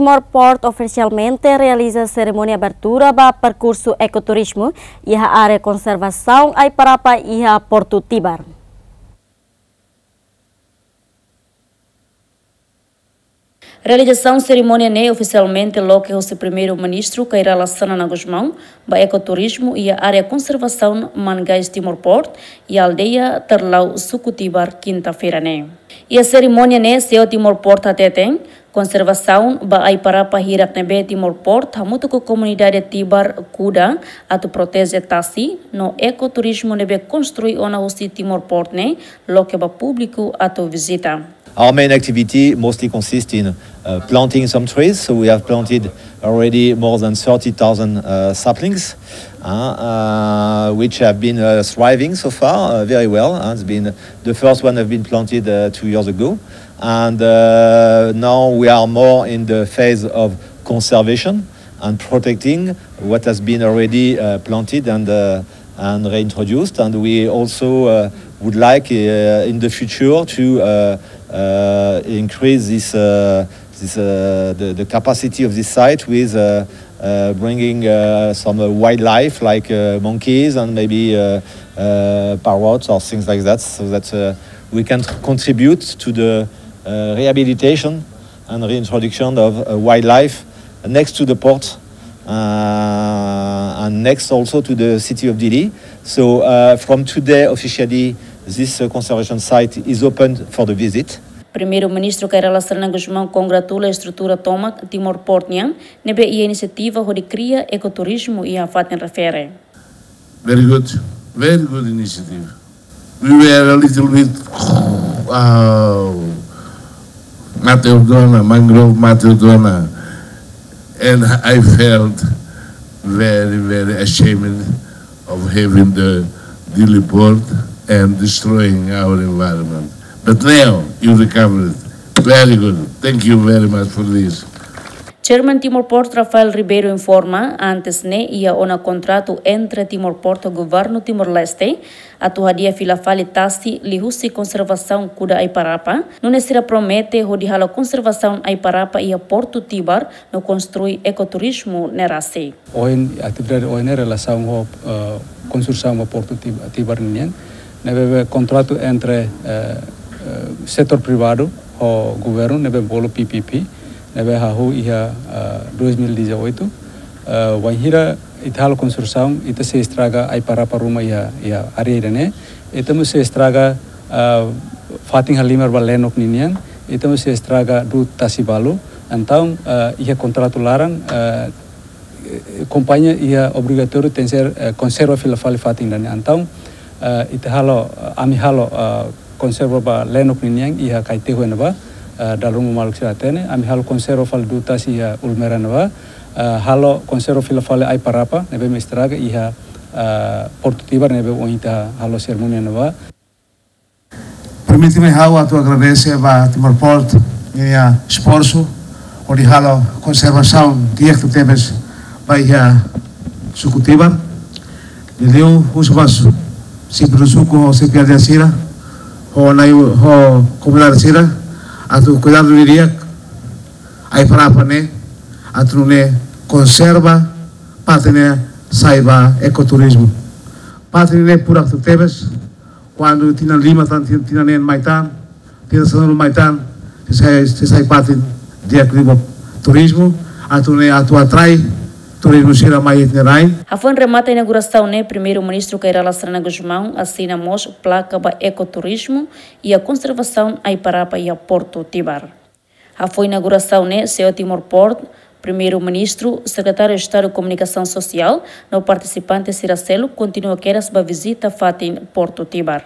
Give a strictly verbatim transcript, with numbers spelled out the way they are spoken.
Timor Port ofisialmente realiza serimónia abertura ba perkursu ekoturizmu iha área konservasaun Aiparapa iha Portu Tibar. Realizasaun serimónia ne'e ofisialmente loke hosi Primeiru-Ministru Kay Rala Xanana Gusmão ba ekoturizmu iha área konservasaun Mangais Timor Port iha aldeia Terlau, suku Tibar, kinta-feira ne'e. Iha serimónia ne'e, CEO Timor Port hateten, konservasaun ba Aiparapa hirak ne'ebé Timor Port hamutuk ho komunidade Tibar kuda atu proteje tasi, no ekoturizmu ne'ebé konstrui ona hosi Timor Port ne'e loke ba públiku atu vizita. Our main activity mostly consists in, uh, planting some trees. So we have planted already more than thirty thousand, uh, saplings, uh, uh, which have been, uh, thriving so far, uh, very well. Uh, it's been, the first one have been planted, uh, two years ago. And, uh, now we are more in the phase of conservation and protecting what has been already, uh, planted and, uh, and reintroduced. And we also, uh, would like, uh, in the future to, uh, uh, increase this, uh, this, uh, the, the capacity of this site with, uh, uh, bringing, uh, some, uh, wildlife like, uh, monkeys and maybe, uh, uh, parrots or things like that, so that, uh, we can contribute to the, uh, rehabilitation and reintroduction of, uh, wildlife next to the port, uh, and next also to the city of Dili. So, uh, from today, officially, this, uh, conservation site is open for the visit. Primeiru-Ministru Kay Rala Xanana Gusmão kongratula estrutura tomak Timor Port nian ne'ebé iha inisiativa hodi kria ekoturizmu iha fatin refere. Very good, very good initiative. We were a little bit, uh, Mata Eldona, mangrove Mata Eldona, and I felt very, very ashamed of having the Dili port and destroying our environment. But now you recovered. Very good. Thank you very much for this. Chairman Timor Port Rafael Ribeiro informa, antes ne'e iha ona kontratu entre Timor Port ho Governu Timor-Leste atu hadi'a fila fali tasi liuhusi konservasaun kuda Aiparapa, nune'e sira promete hodi halo konservasaun Aiparapa iha Portu Tibar no konstrui ekoturizmu ne'e rasik. Ohin, atividade ohin ne'e relasaun ho, eh, konstrusaun ba Portu Tib-, Tibar nian. Ne'ebé kontratu entre, eh, eh, setór privadu ho governu ne'ebé bolu P P P, ne'ebé hahú iha, eh, dois mil e dezoito. Eh, wainhira ita halo konstrusaun, ita sei estraga Aiparapa ruma iha, iha área ida-ne'e. Ita mós sei estraga, eh, fatin halimar ba Lenok ninian, ita mós sei estraga du'ut tasi balu. Entaun, eh, iha kontratu laran, eh, eh, kompañia iha obrigatóriu tenke ser, eh, konserva fila fali fatin ida-ne'e. Entaun, eh, ita halo, eh, ami halo, eh, konserva ba Lenok ninian iha Kaitehu ne'ebá, eh, dala ruma maluk sira hatene, ami halo konserva fali du'ut tasi iha Ulmera ne'ebá, eh, halo konserva fila fali Aiparapa, ne'ebé mak estraga iha, eh, Portu Tibar ne'ebé ohin ita halo serimónia ne'ebá. Permite mai ha'u atu agradese ba Timor Port ninia esforsu hodi halo konservasaun di'ak tebes ba iha suku Tibar. Liuliu husu ba xefe suku ho xefe aldeia sira, ho nai, ho komunidade sira, atu kuidadu didi'ak Aiparapa ne'e, atu nune'e konserva, parte ne'e sai ba ekoturizmu. Parte ne'e furak tebes, kuandu tinan lima tan, tin-, tinan neen mai tan, tinan sanulu mai tan, sei sai, sei sai fatin di'ak liu ba turizmu, atu nune'e atu atrai turizmu sira mai iha ita-nia rain. Hafoin remata inaugurasaun ne'e, Primeiru-Ministru Kay Rala Xanana Gusmão asina mós plaka ba ekoturizmu iha konservasaun Aiparapa iha Portu Tibar. Hafoin inaugurasaun ne'e, CEO Timor Port, Primeiru-Ministru, Sekretáriu Estadu Komunikasaun Sosiál, no partisipante sira seluk kontinua kedas ba vizita fatin Portu Tibar.